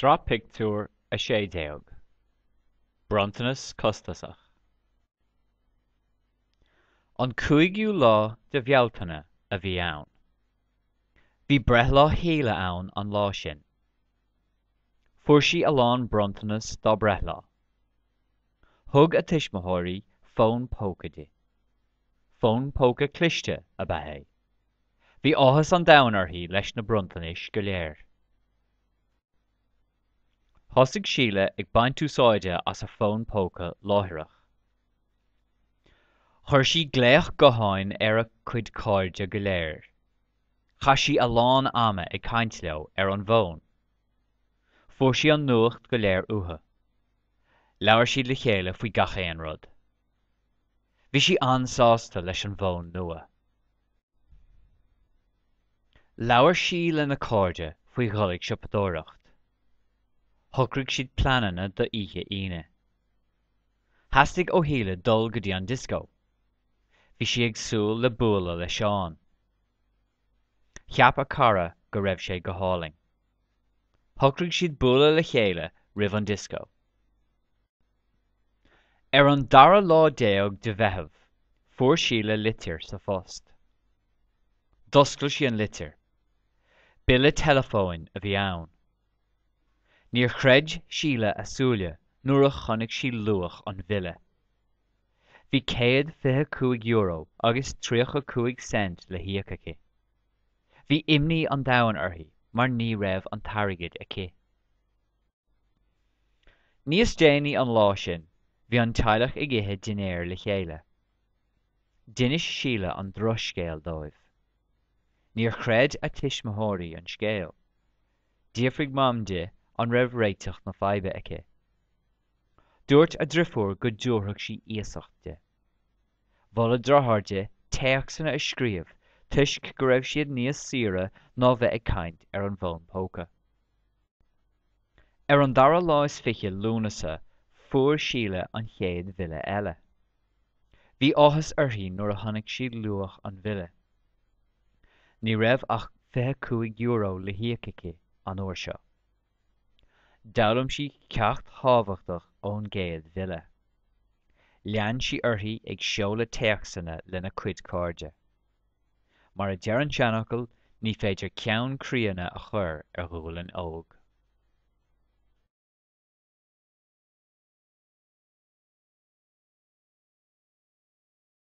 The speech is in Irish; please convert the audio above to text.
Sraith Pictiúr 16 Bronntanas Costasach An cúigiú lá de Bhealtaine a bhí ann. Bhí breithlá Shíle ann an lá sin. Fuair sí a lán bronntanas dá breithlá. Thug a tuismitheoirí fón póca di. Fón póca cliste ab ea é. Bhí áthas an domhain uirthi leis na bronntanais go léir. Thosaigh Síle ag baint úsáide as a fón póca láithreach. Chuir sí glaoch gutháin ar a cuid cairde go léir. Chaith sí a lán ama ag caint leo ar an bhfón. Fuair sí an nuacht go léir uathu. Labhair siad le chéile faoi gach aon rud. Bhí sí an-sásta leis an bhfón nua. Labhair sí lena cairde faoi dhul ag siopadóireacht. Shocraigh siad pleananna d'oíche Aoine. Theastaigh ó Shíle dul go dtí an dioscó. Bhí sí ag súil le bualadh le Seán. Cheap a cara go raibh sé go hálainn. Shocraigh siad bualadh le chéile roimh an dioscó. Ar an dara lá déag de Mheitheamh, fuair Síle litir sa phost. D'oscail sí an litir. Bille teileafóin a bhí ann. Níor chreid Síle a súile nuair a chonaic sí luach an bhille. Bhí €125 agus 35 cent le híoc aici. Bhí imní an domhain uirthi mar ní raibh an t-airgead aici. Níos déanaí an lá sin, bhí an teaghlach ag ithe dinnéir le chéile. D'inis Síle an drochscéal dóibh. Níor chreid a tuismitheoirí an scéal. D'fhiafraigh Mam di an raibh réiteach na faidhbe aici. Dúirt a driofúr go dtabharfadh sí iasacht di. Mhol a deartháir di téacsanna a scríobh toisc go raibh siad níos saoire ná bheith ag caint ar an bhfón póca. Ar an dara lá is fiche Lúnasa fuair Síle an chéad bhille eile. Bhí áthas uirthi nuair a chonaic sí luach an bhille. Ní raibh ach €25 le híoc aici an uair seo. D'fhoghlaim sí ceacht thábhachtach ón gcéad bhille. Lean sí uirthi ag seoladh téacsanna lena cuid cairde. Mar a deir an seanfhocal, ní féidir ceann críonna a chur ar ghualainn óg.